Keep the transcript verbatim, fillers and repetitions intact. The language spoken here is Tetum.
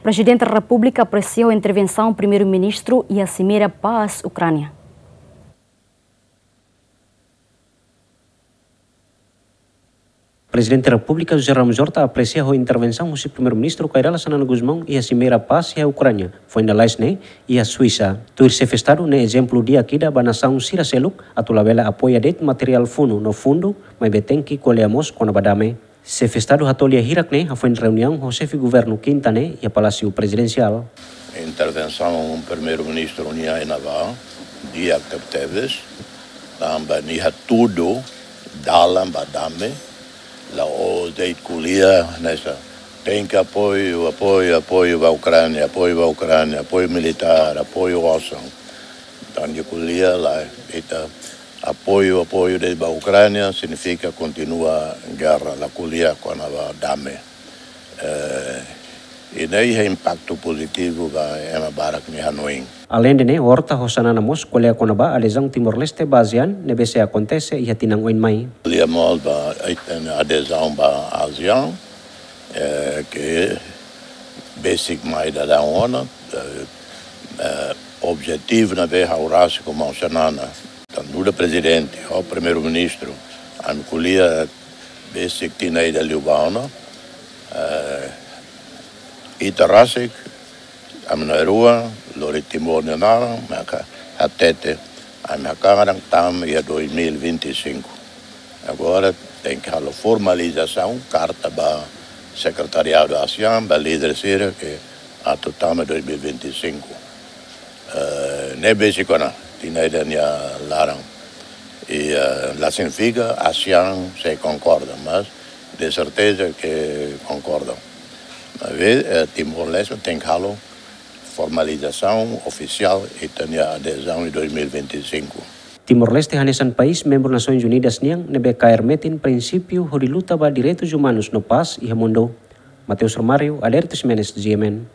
Prezidente Repúblika apresia ho intervensaun Primeiru-Ministru iha Simeira Pás, Ukránia. Prezidente Repúblika José Ramos Horta apresia ho intervensaun husi Primeiru-Ministru Kay Rala Xanana Gusmão iha Simeira Pás iha Ukránia, foin lalais ne'e iha Suisa. Tuir Xefe Estadu ne'e ezemplu di'ak ida ba nasaun sira seluk atu labele apoia de'it materiál funu no fundu, maibé tenke ko'alia mós kona-ba dame. Xefe Estadu hato'o lia hirak ne'e hafoin reuniaun ho Xefe Governu Kinta ne'e iha Palásiu Prezidensiál. Intervensaun Primeiru-Ministru nian iha ne'ebá di'ak tebetebes, tanba nia hatudu dalan ba dame, la'ós de'it ko'alia hanesan tenke apoiu, apoiu, apoiu ba Ukránia, apoiu ba Ukránia, apoiu militár, apoiu osan. Entaun nia ko'alia la, ita apoiu, apoiu de'it ba Ukránia signifika kontinua gerra, la ko'alia kona-ba dame. Eh, i ne'e iha impaktu pozitivu ba ema barak nia hanoin. Aleinde ne'e, Horta ho Xanana mós ko'alia kona-ba adezaun Timor-Leste ba ASEAN ne'ebé sei akontese iha tinan oin mai. Ko'alia mós ba ita-nia adezaun ba ASEAN, eh, ke besik mai daudaun ona, eh, eh, objetivu ne'ebé ha'u rasik ho maun Xanana, tanba nu'udar Prezidente, ho Primeiru-Ministru, ami ko'alia besik tinan ida liubá ona, eh, ita rasik, ami na'in-rua, lori Timor nia naran, maka hatete, ami hakarak tama iha dois mil e vinte e cinco. Agora tenke halo formalizasaun, karta ba Sekretariadu ASEAN, ba líder sira ke atu tama dois mil e vinte e cinco. Eh, ne'e besik ona, tinan ida nia laran. I, eh, la signifika ASEAN sei konkorda, mas de serteza ke konkorda. Maibé, eh, Timor-Leste tenke halo formalizasaun ofisiál ita-nia adezaun iha dois mil e vinte e cinco. Timor-Leste hanesan país membru Nasoins Unidas nian ne'ebé kaer metin prinsípiu hodi luta ba direitus umanus no pás iha mundu. Mateus Romário, Aderito Ximenes, G M N.